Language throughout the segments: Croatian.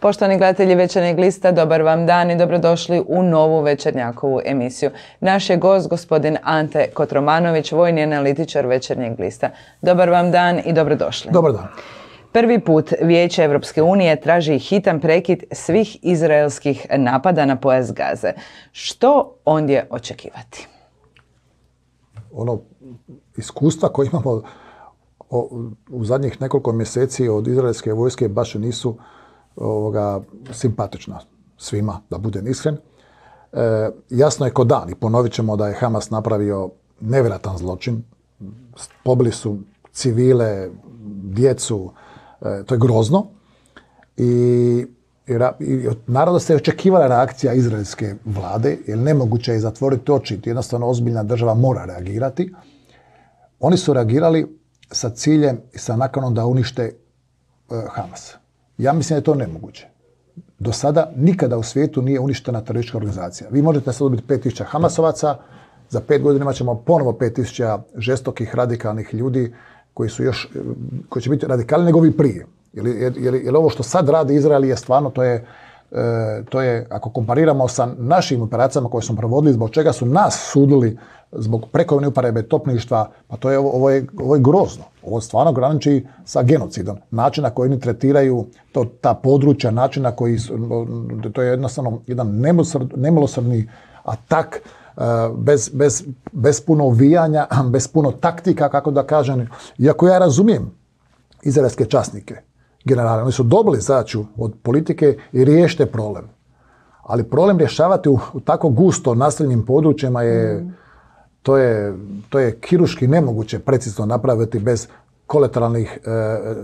Poštovani gledatelji Večernjeg lista, dobar vam dan i dobrodošli u novu Večernjakovu emisiju. Naš je gost gospodin Ante Kotromanović, vojni analitičar Večernjeg lista. Dobar vam dan i dobrodošli. Dobar dan. Prvi put Vijeće Europske unije traži hitan prekid svih izraelskih napada na pojas Gaze. Što ondje očekivati? Ono iskustva koje imamo u zadnjih nekoliko mjeseci od izraelske vojske baš nisu simpatična svima, da budem iskren. Jasno je ko dan i ponovit ćemo da je Hamas napravio nevjerojatan zločin. Pobili su civile, djecu, to je grozno. I od naroda se očekivala reakcija izraelske vlade, jer nemoguće je zatvoriti oči, jednostavno ozbiljna država mora reagirati. Oni su reagirali sa ciljem i sa nakanom da unište Hamas. Ja mislim da je to nemoguće. Do sada nikada u svijetu nije uništena teroristička organizacija. Vi možete sad dobiti 5000 Hamasovaca, za 5 godina imat ćemo ponovo 5000 žestokih, radikalnih ljudi koji će biti radikalni nego vi prije. Jer ovo što sad radi Izrael je stvarno, to je, ako kompariramo sa našim operacijama koje smo provodili, zbog čega su nas sudili zbog prekomjerne uporabe topništva, pa ovo je grozno. Ovo stvarno graniči sa genocidom. Način na koji oni tretiraju ta područja, način na koji to je jednostavno jedan nemilosrdni atak, bez puno uvijanja, bez puno taktika, kako da kažem. Iako ja razumijem izraelske časnike, generale, oni su dobili zadaću od politike i riješite problem. Ali problem rješavati u tako gusto naseljenim područjima to je kirurški nemoguće precizno napraviti bez kolateralnih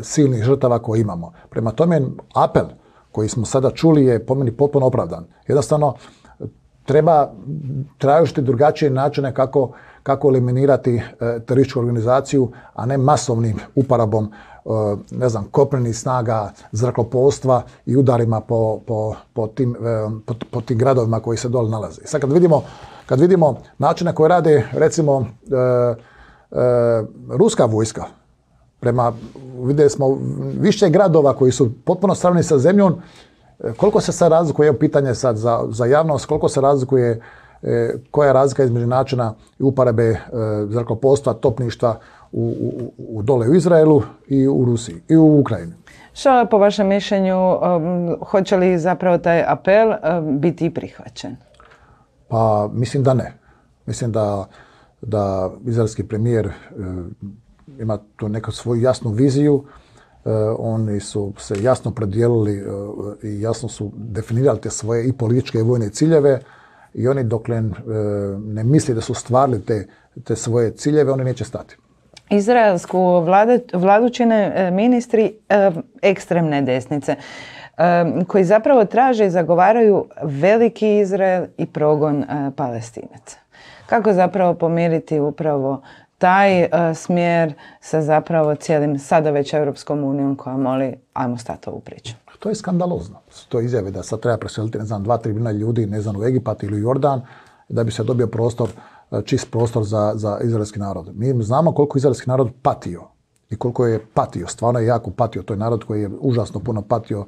silnih žrtava koje imamo. Prema tome, apel koji smo sada čuli je po meni potpuno opravdan. Jednostavno, treba tražiti drugačije načine kako eliminirati terorističku organizaciju, a ne masovnim uporabom kopnenih snaga, zrakoplovstva i udarima po tim gradovima koji se dole nalaze. Sad kad vidimo način na koji rade, recimo, ruska vojska, vidjeli smo više gradova koji su potpuno sravnjeni sa zemljom, koliko se sad razlikuje, evo pitanje sad za javnost, koliko se razlikuje, koja je razlika između načina i uporabe zrakoplovstva, topništva dole u Izraelu i u Rusiji i u Ukrajini. Što po vašem mišljenju, hoće li zapravo taj apel biti prihvaćen? Pa mislim da ne. Mislim da izraelski premijer ima tu neku svoju jasnu viziju. Oni su se jasno predijelili i jasno su definirali te svoje i političke i vojne ciljeve i oni dokle ne misli da su stvarili te svoje ciljeve, oni neće stati. Izraelsku vladu čine ministri ekstremne desnice koji zapravo traže i zagovaraju veliki Izrael i progon Palestinaca. Kako zapravo pomiriti upravo taj smjer sa zapravo cijelim sada već Europskom unijom koja moli ajmo stati ovu priču? To je skandalozno. To je izjave da sad treba preseliti 2-3 milijuna ljudi u Egipat ili Jordan da bi se dobio čist prostor za izraelski narod. Mi znamo koliko izraelski narod patio i koliko je patio, stvarno je jako patio. To je narod koji je užasno puno patio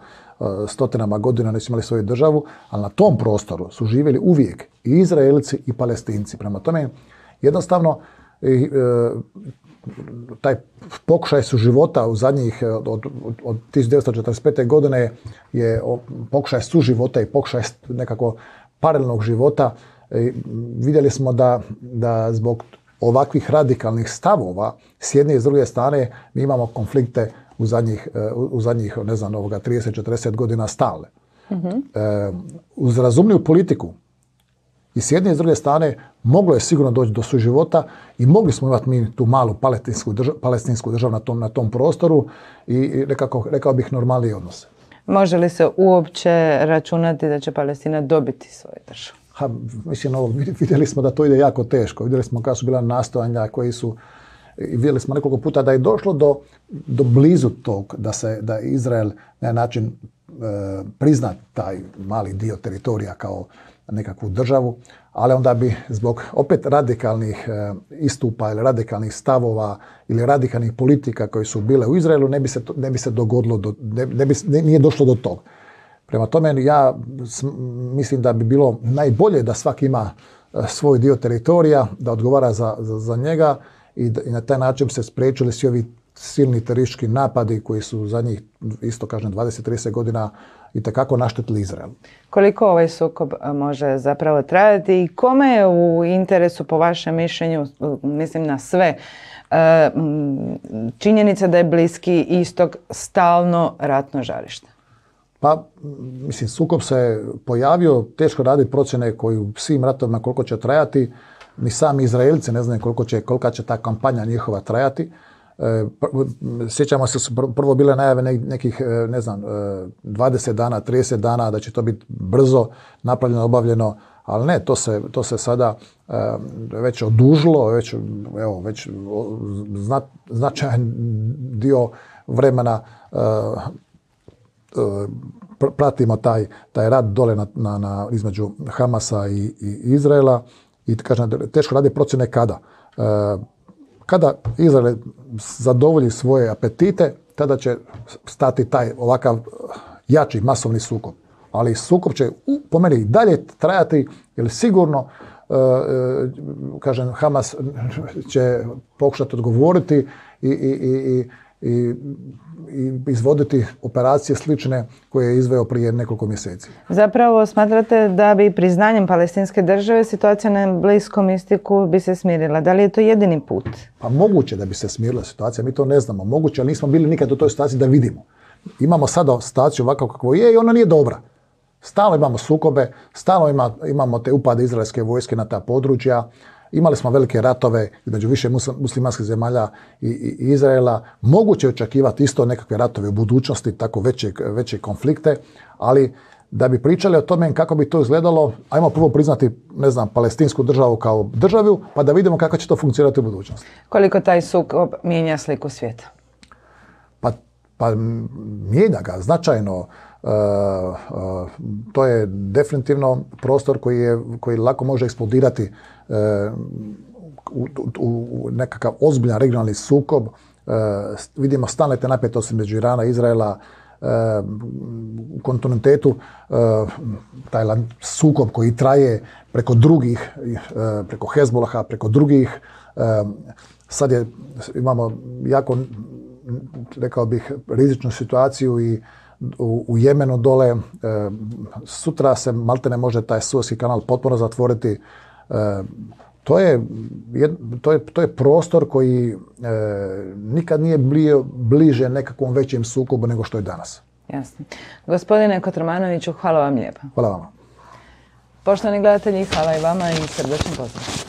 stotinama godina, nisu imali svoju državu, ali na tom prostoru su živjeli uvijek i Izraelci i Palestinci. Prema tome, jednostavno, taj pokušaj suživota u zadnjih, od 1945. godine je pokušaj suživota i pokušaj nekako paralelnog života. Vidjeli smo da zbog ovakvih radikalnih stavova s jedne i s druge strane mi imamo konflikte u zadnjih 30-40 godina stalne. Uz razumljivu politiku i s jedne i s druge strane moglo je sigurno doći do suživota i mogli smo imati mi tu malu palestinsku državu na tom prostoru i rekao bih normalnije odnose. Može li se uopće računati da će Palestina dobiti svoju državu? Vidjeli smo da to ide jako teško. Vidjeli smo kada su bila nastojanja koji su, i vidjeli smo nekoliko puta da je došlo do blizu tog da Izrael na način prizna taj mali dio teritorija kao nekakvu državu, ali onda bi zbog opet radikalnih istupa ili radikalnih stavova ili radikalnih politika koje su bile u Izraelu ne bi se dogodilo, nije došlo do toga. Prema tome, ja mislim da bi bilo najbolje da svaki ima svoj dio teritorija, da odgovara za njega i na taj način se spriječili svi ovi silni teroristički napadi koji su zadnjih, isto kažem, 20-30 godina itekako naštetili Izraelu. Koliko ovaj sukob može zapravo trajati i kome je u interesu, po vašem mišljenju, mislim na sve, činjenica da je Bliski istok stalno ratno žarište? Pa, mislim, sukob se pojavio, teško raditi procjene koji u svim ratovima koliko će trajati, ni sami Izraelci ne znaju kolika će ta kampanja njihova trajati. Sjećamo se, su prvo bile najave nekih, ne znam, 20 dana, 30 dana, da će to biti brzo napravljeno, obavljeno, ali ne, to se sada već odužilo, već značajan dio vremena pratimo taj rat dole između Hamasa i Izraela i kažem, teško radi procjene kada. Kada Izrael zadovolji svoje apetite, tada će stati taj ovakav jači masovni sukob. Ali sukob će po meni dalje trajati, jer sigurno kažem, Hamas će pokušati odgovoriti i izvoditi operacije slične koje je izveo prije nekoliko mjeseci. Zapravo smatrate da bi priznanjem palestinske države situacija na Bliskom istoku bi se smirila? Da li je to jedini put? Pa moguće da bi se smirila situacija, mi to ne znamo. Moguće, ali nismo bili nikad u toj situaciji da vidimo. Imamo sada situaciju ovako kako je i ona nije dobra. Stalno imamo sukobe, stalno imamo te upade izraelske vojske na ta područja. Imali smo velike ratove između više muslimanskih zemalja i Izraela. Moguće je očekivati isto nekakve ratove u budućnosti, tako veće konflikte, ali da bi pričali o tome kako bi to izgledalo, ajmo prvo priznati, ne znam, palestinsku državu kao državu, pa da vidimo kako će to funkcionirati u budućnosti. Koliko taj sukob mijenja sliku svijeta? Pa mijenja ga značajno. To je definitivno prostor koji lako može eksplodirati u nekakav ozbiljan regionalni sukob. Vidimo stalne te napetosti među Irana i Izraela, u kontinuitetu taj sukob koji traje preko drugih, preko Hezbolaha, preko drugih. Sad imamo jako, rekao bih, rizičnu situaciju i u Jemenu dole. Sutra se maltene može taj Suezki kanal potpuno zatvoriti. To je prostor koji nikad nije bio bliže nekakvom većem sukobu nego što je danas. Jasno. Gospodine Kotromanoviću, hvala vam lijepa. Hvala vama. Poštovani gledatelji, hvala i vama i srdačan pozdrav.